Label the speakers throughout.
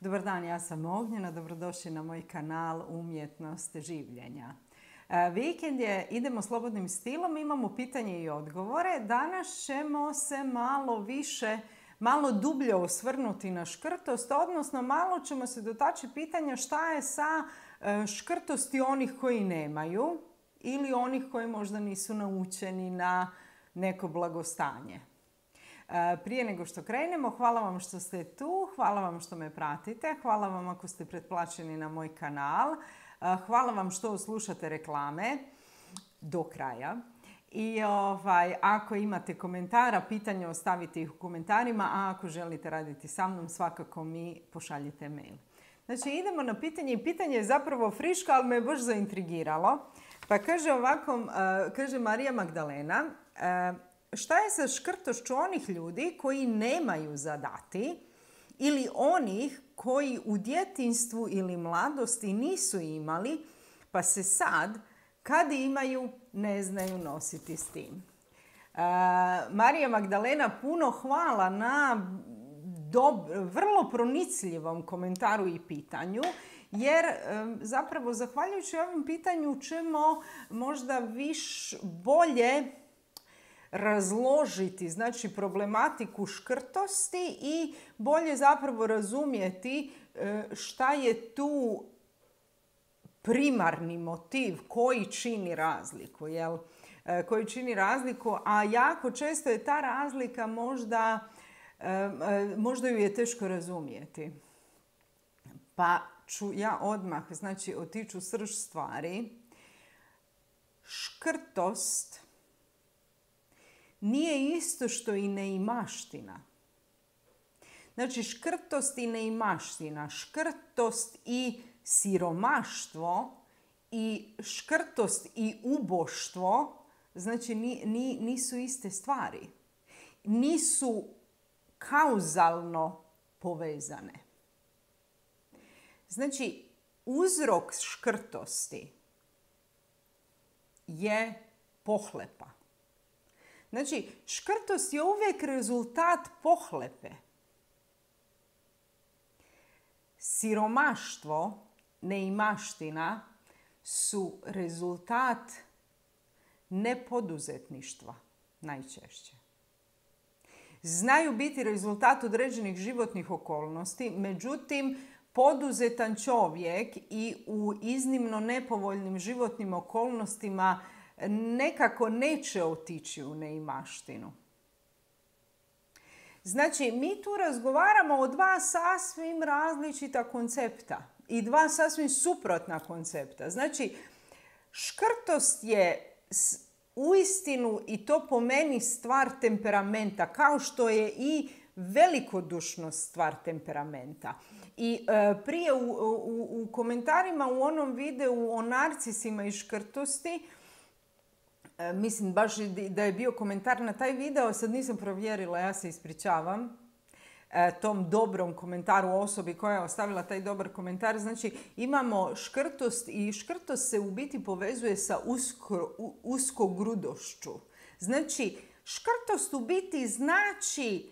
Speaker 1: Dobar dan, ja sam Ognjena, dobrodošli na moj kanal Umjetnost življenja. Vikend je, idemo slobodnim stilom, imamo pitanje i odgovore. Danas ćemo se malo dublje osvrnuti na škrtost, odnosno malo ćemo se dotaći pitanja šta je sa škrtosti onih koji nemaju ili onih koji možda nisu naučeni na neko blagostanje. Prije nego što krenemo, hvala vam što ste tu, hvala vam što me pratite, hvala vam ako ste pretplaćeni na moj kanal, hvala vam što slušate reklame do kraja. I ako imate komentara, pitanja, ostavite ih u komentarima, a ako želite raditi sa mnom, svakako mi pošaljite mail. Znači, idemo na pitanje i pitanje je zapravo friško, ali me baš zaintrigiralo. Pa kaže ovako, kaže Marija Magdalena, šta je sa škrtošću onih ljudi koji nemaju za dati ili onih koji u djetinjstvu ili mladosti nisu imali, pa se sad, kad imaju, ne znaju nositi s tim. Marija Magdalena, puno hvala na vrlo pronicljivom komentaru i pitanju, jer zapravo zahvaljujući ovom pitanju ćemo možda bolje razložiti, znači, problematiku škrtosti i bolje zapravo razumjeti šta je tu primarni motiv koji čini razliku, koji čini razliku, a jako često je ta razlika možda ju je teško razumjeti. Pa ću ja odmah, znači, otići u srž stvari. Škrtost nije isto što i neimaština. Znači, škrtost i neimaština, škrtost i siromaštvo i škrtost i uboštvo, znači nisu iste stvari. Nisu kauzalno povezane. Znači, uzrok škrtosti je pohlepa. Znači, škrtost je uvijek rezultat pohlepe. Siromaštvo, neimaština su rezultat nepoduzetništva najčešće. Znaju biti rezultat određenih životnih okolnosti, međutim, poduzetan čovjek i u iznimno nepovoljnim životnim okolnostima nekako neće otići u neimaštinu. Znači, mi tu razgovaramo o dva sasvim različita koncepta i dva sasvim suprotna koncepta. Znači, škrtost je uistinu, i to po meni, stvar temperamenta, kao što je i velikodušnost stvar temperamenta. I prije u komentarima u onom videu o narcisima i škrtosti, mislim baš da je bio komentar na taj video, sad nisam provjerila, ja se ispričavam tom dobrom komentaru osobi koja je ostavila taj dobar komentar. Znači, imamo škrtost i škrtost se u biti povezuje sa uskogrudošću. Znači, škrtost u biti znači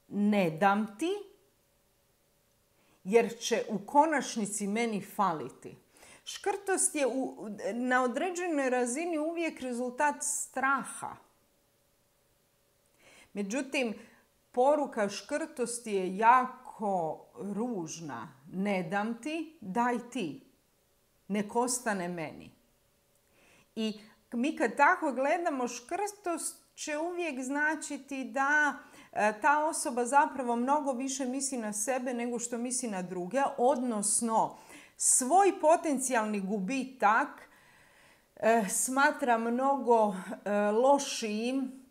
Speaker 1: ne dam ti jer će u konačnici meni faliti. Škrtost je na određenoj razini uvijek rezultat straha. Međutim, poruka škrtosti je jako ružna. Ne dam ti, daj ti. Nek ostane meni. I mi kad tako gledamo, škrtost će uvijek značiti da ta osoba zapravo mnogo više misli na sebe nego što misli na druge, odnosno svoj potencijalni gubitak smatra mnogo lošijim,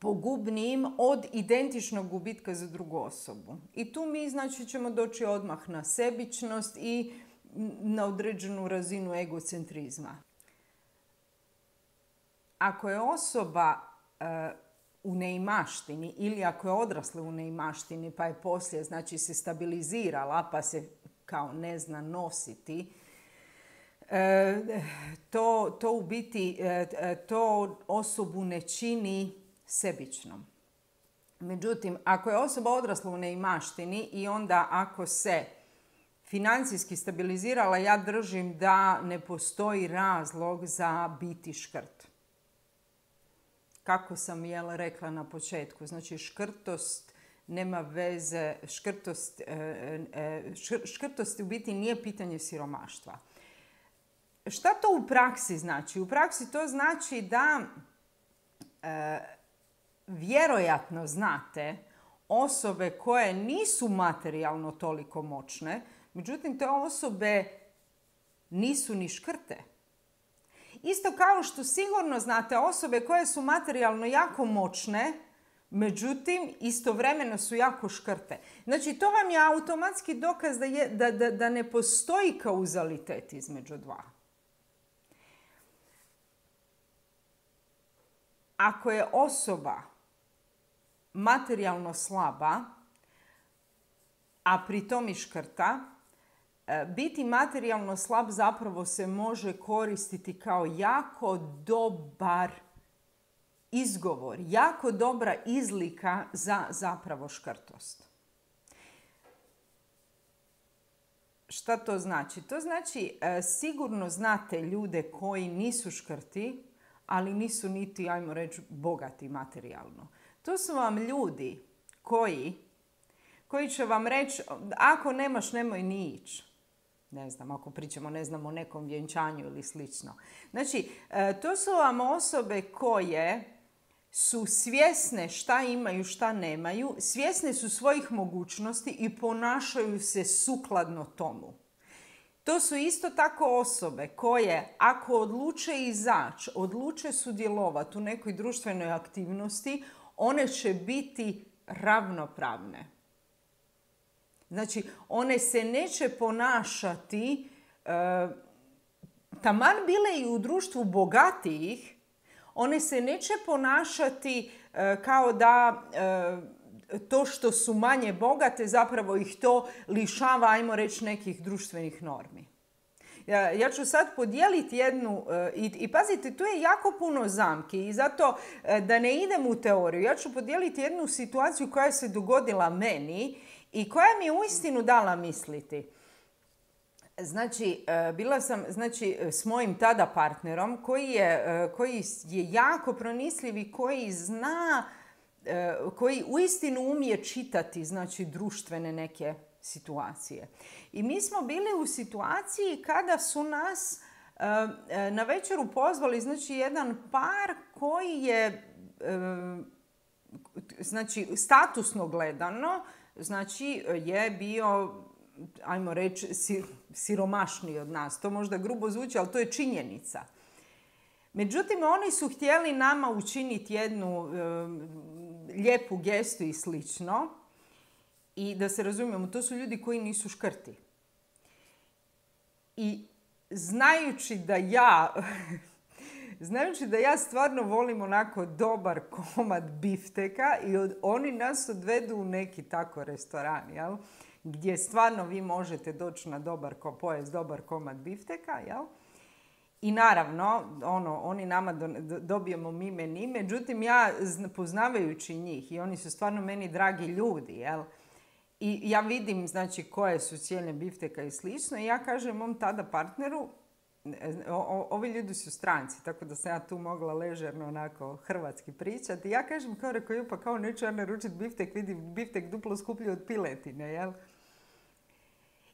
Speaker 1: pogubnijim od identičnog gubitka za drugu osobu. I tu mi, znači, ćemo doći odmah na sebičnost i na određenu razinu egocentrizma. Ako je osoba u neimaštini ili ako je odrasla u neimaštini pa je poslije, znači, se stabilizirala pa se kao ne zna nositi, to u biti to osobu ne čini sebičnom. Međutim, ako je osoba odrasla u neimaštini i onda ako se financijski stabilizirala, ja držim da ne postoji razlog za biti škrt. Kako sam rekla na početku, znači škrtost nema veze, škrtost u biti nije pitanje siromaštva. Šta to u praksi znači? U praksi to znači da vjerojatno znate osobe koje nisu materijalno toliko moćne, međutim te osobe nisu ni škrte. Isto kao što sigurno znate osobe koje su materijalno jako moćne, međutim istovremeno su jako škrte. Znači to vam je automatski dokaz da ne postoji kauzalitet između dva. Ako je osoba materijalno slaba, a pri tom i škrta, biti materijalno slab zapravo se može koristiti kao jako dobar izgovor, jako dobra izlika za zapravo škrtost. Šta to znači? To znači sigurno znate ljude koji nisu škrti, ali nisu niti, ajmo reći, bogati materijalno. To su vam ljudi koji će vam reći, ako nemaš, nemoj ni ići. Ne znam, ako pričamo, ne znam, o nekom vjenčanju ili slično. Znači, to su vam osobe koje su svjesne šta imaju, šta nemaju, svjesne su svojih mogućnosti i ponašaju se sukladno tomu. To su isto tako osobe koje, ako odluče izaći, odluče sudjelovati u nekoj društvenoj aktivnosti, one će biti ravnopravne. Znači, one se neće ponašati, taman bile i u društvu bogatijih, one se neće ponašati kao da to što su manje bogate zapravo ih to lišava, ajmo reći, nekih društvenih normi. Ja ću sad podijeliti jednu, i pazite, tu je jako puno zamki i zato da ne idem u teoriju, ja ću podijeliti jednu situaciju koja se dogodila meni i koja mi je uistinu dala misliti. Znači, bila sam s mojim tada partnerom koji je jako pronicljiv i koji zna, koji uistinu umije čitati, znači, društvene neke situacije. I mi smo bili u situaciji kada su nas na večeru pozvali, znači, jedan par koji je, znači, statusno gledano, znači, je bio, ajmo reći, siromašniji od nas. To možda grubo zvuči, ali to je činjenica. Međutim, oni su htjeli nama učiniti jednu lijepu gestu i slično. I da se razumijemo, to su ljudi koji nisu škrti. I znajući da ja stvarno volim onako dobar komad bifteka i oni nas odvedu u neki tako restoran, jel? Gdje stvarno vi možete doći na pojest dobar komad bifteka, jel? I naravno, oni nama dobijemo mi meni, međutim ja poznavajući njih i oni su stvarno meni dragi ljudi, jel? I ja vidim, znači, koje su cijene bifteka i slično i ja kažem mom tada partneru, ovi ljudi su stranci, tako da sam ja tu mogla ležerno onako hrvatski pričati. Ja kažem, kao neću ja naručiti biftek, vidim biftek duplo skuplji od piletine, jel?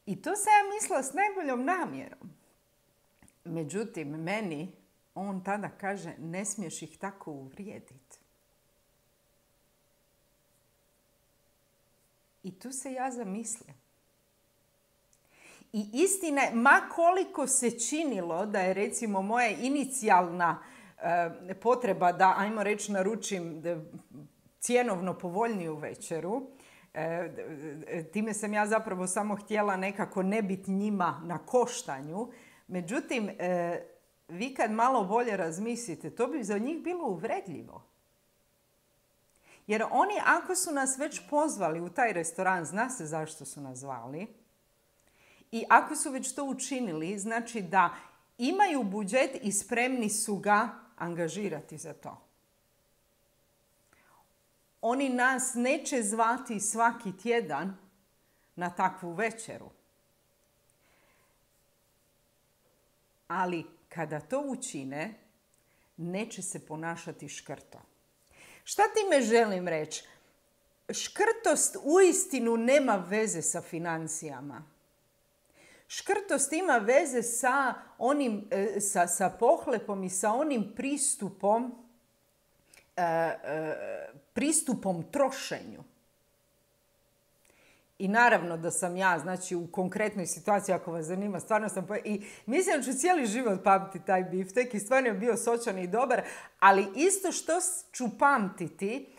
Speaker 1: I to sam ja mislila s najboljom namjerom. Međutim, meni on tada kaže, ne smiješ ih tako uvrijediti. I tu se ja zamislim. I istina je, ma koliko se činilo da je, recimo, moja inicijalna potreba da, ajmo reći, naručim cjenovno povoljniju večeru, time sam ja zapravo samo htjela nekako ne biti njima na koštanju. Međutim, vi kad malo bolje razmislite, to bi za njih bilo uvredljivo. Jer oni, ako su nas već pozvali u taj restoran, zna se zašto su nas zvali. I ako su već to učinili, znači da imaju budžet i spremni su ga angažirati za to. oni nas neće zvati svaki tjedan na takvu večeru. Ali kada to učine, neće se ponašati škrto. Šta time želim reći? Škrtost uistinu nema veze sa financijama. Škrtost ima veze sa sa pohlepom i sa onim pristupom trošenju. I naravno da sam ja, znači u konkretnoj situaciji, ako vas zanima, stvarno sam... I mislim da ću cijeli život pamtiti taj biftek i stvarno je bio sočan i dobar, ali isto što ću pamtiti,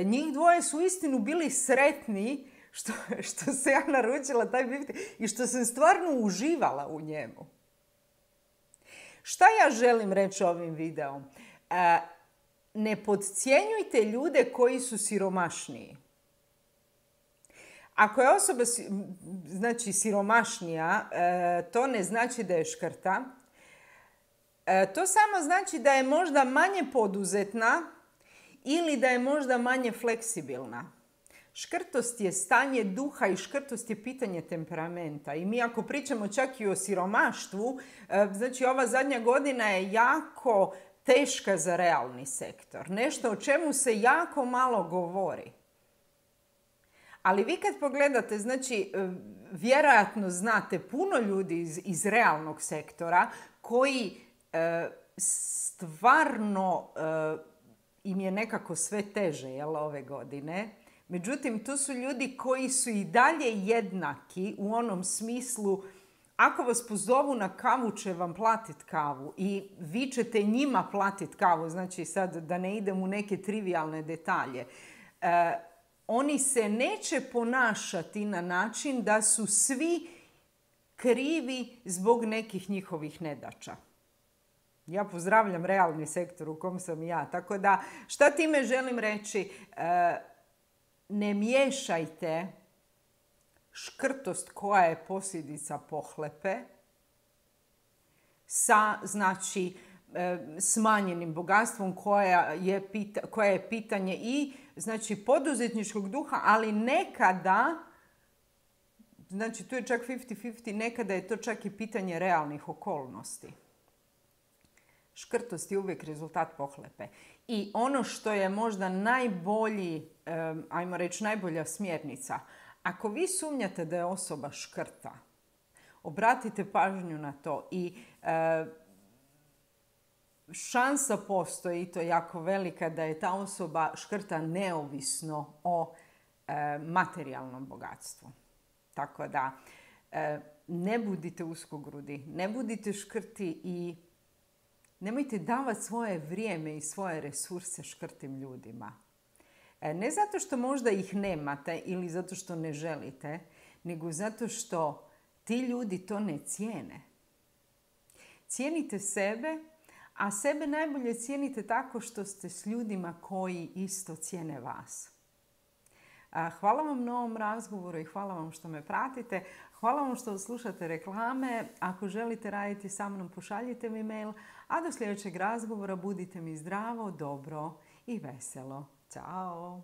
Speaker 1: njih dvoje su istinu bili sretni što se ja naručila taj biftek i što sam stvarno uživala u njemu. Šta ja želim reći ovim videom? Ne podcjenjujte ljude koji su siromašniji. Ako je osoba znači siromašnija, to ne znači da je škrta. To samo znači da je možda manje poduzetna ili da je možda manje fleksibilna. Škrtost je stanje duha i škrtost je pitanje temperamenta. I mi ako pričamo čak i o siromaštvu, znači ova zadnja godina je jako teška za realni sektor. Nešto o čemu se jako malo govori. Ali vi kad pogledate, znači vjerojatno znate puno ljudi iz realnog sektora koji stvarno im je nekako sve teže ove godine. Međutim, tu su ljudi koji su i dalje jednaki u onom smislu, ako vas pozovu na kavu, će vam platiti kavu i vi ćete njima platiti kavu. Znači sad da ne idem u neke trivijalne detalje. Oni se neće ponašati na način da su svi krivi zbog nekih njihovih nedaća. Ja pozdravljam realni sektor u kom sam ja. Tako da, šta time želim reći? Ne miješajte škrtost koja je posljedica pohlepe sa, znači, smanjenim bogatstvom koja je pitanje i znači poduzetničkog duha, ali nekada, znači tu je čak 50-50, nekada je to čak i pitanje realnih okolnosti. Škrtost je uvijek rezultat pohlepe. I ono što je možda najbolji, ajmo reći najbolja smjernica, ako vi sumnjate da je osoba škrta, obratite pažnju na to i šansa postoji, to je jako velika, da je ta osoba škrta neovisno o materijalnom bogatstvu. Tako da ne budite uskogrudi, ne budite škrti i nemojte davati svoje vrijeme i svoje resurse škrtim ljudima. Ne zato što možda ih nemate ili zato što ne želite, nego zato što ti ljudi to ne cijene. Cijenite sebe, a sebe najbolje cijenite tako što ste s ljudima koji isto cijene vas. Hvala vam na ovom razgovoru i hvala vam što me pratite. Hvala vam što slušate reklame. Ako želite raditi sa mnom, pošaljite mi mail. A do sljedećeg razgovora budite mi zdravo, dobro i veselo. Ćao!